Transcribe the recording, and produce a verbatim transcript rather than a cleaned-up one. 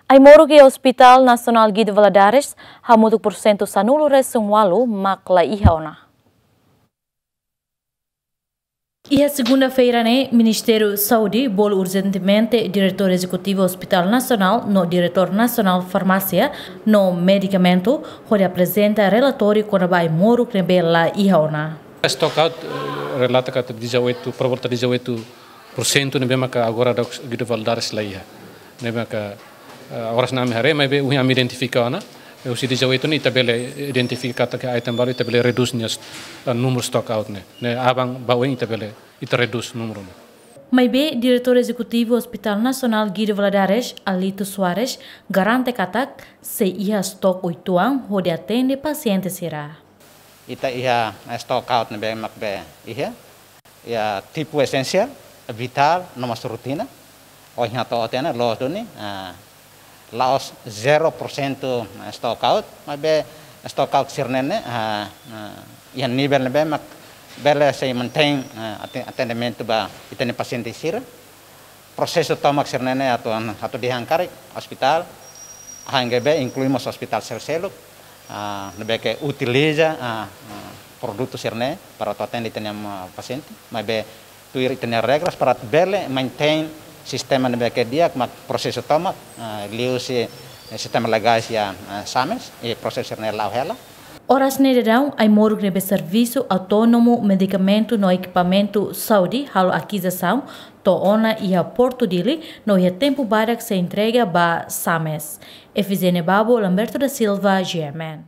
Ai-moruk iha Hospital Nasionál Guido Valadares, hamutuk pursentu sanulu-resin-ualu mak la iha ona. Iha segunda-feira ne'e, Ministériu Saúde bolu urjentemente Diretór Ezekutivu Hospital Nasionál no Diretór Nasionál Farmásia no Medikamentu, hodi aprezenta relatóriu kona-ba ai-moruk ne'ebé la iha ona. Stock out, eh, relata katak dezoito, por volta dezoito por cento ne'ebé maka agora daudaun Guido Valadares la iha. Ne'ebé maka, eh, oras ne'e ami haree, maibé ohin ami identifika ona. Eh, husi dezoito ne'e ita bele identifika katak item balu ita bele redús nia, eh, númeru stock out ne'e. Ne'e aban ba oin ita bele, ita redús númeru ne'e. Maibé Diretór Ezekutivu Hospital Nasionál Guido Valadares, Alito Soares, garante katak sei iha stock uitoan hodi atende pasiente sira. Ita iha, eh, stock out ne'ebé mak be iha, iha tipu esensiál, vitál, no mós rutina. Ohin hato'o tiha ona, loos duni, ah, la'ós zero por cento stock out, maibé stock out sira-ne'e, ah, ah, iha nivel ne'ebé mak bele sei mantein, ah, ate-, atendimentu ba ita-nia pasiente sira. Prosesu tomak sira-ne'e atu, atu dehan karik ospitál, H N G B, inklui mós ospitál sel-seluk, ah, ne'ebé ke utiliza, ah, ah, produtu sira-ne'e para atu atende ita-nia, ah, pasiente, maibé tuir ita-nia regras para bele mantein sistema ne'ebé ke di'ak mak prosesu tomak, ah, liuhusi, eh, sistema legais iha, ah, SAMES, i prosesu sira-ne'e la'o hela. Oras ne'e daudaun, ai-moruk ne'ebé Servisu Autónomu Medikamentu no Ekipamentu Saúde halo akizisaun to'o ona iha Portu Dili, no iha tempu badak sei entrega ba SAMES. Efizénia Babo, Lamberto da Silva, G M N.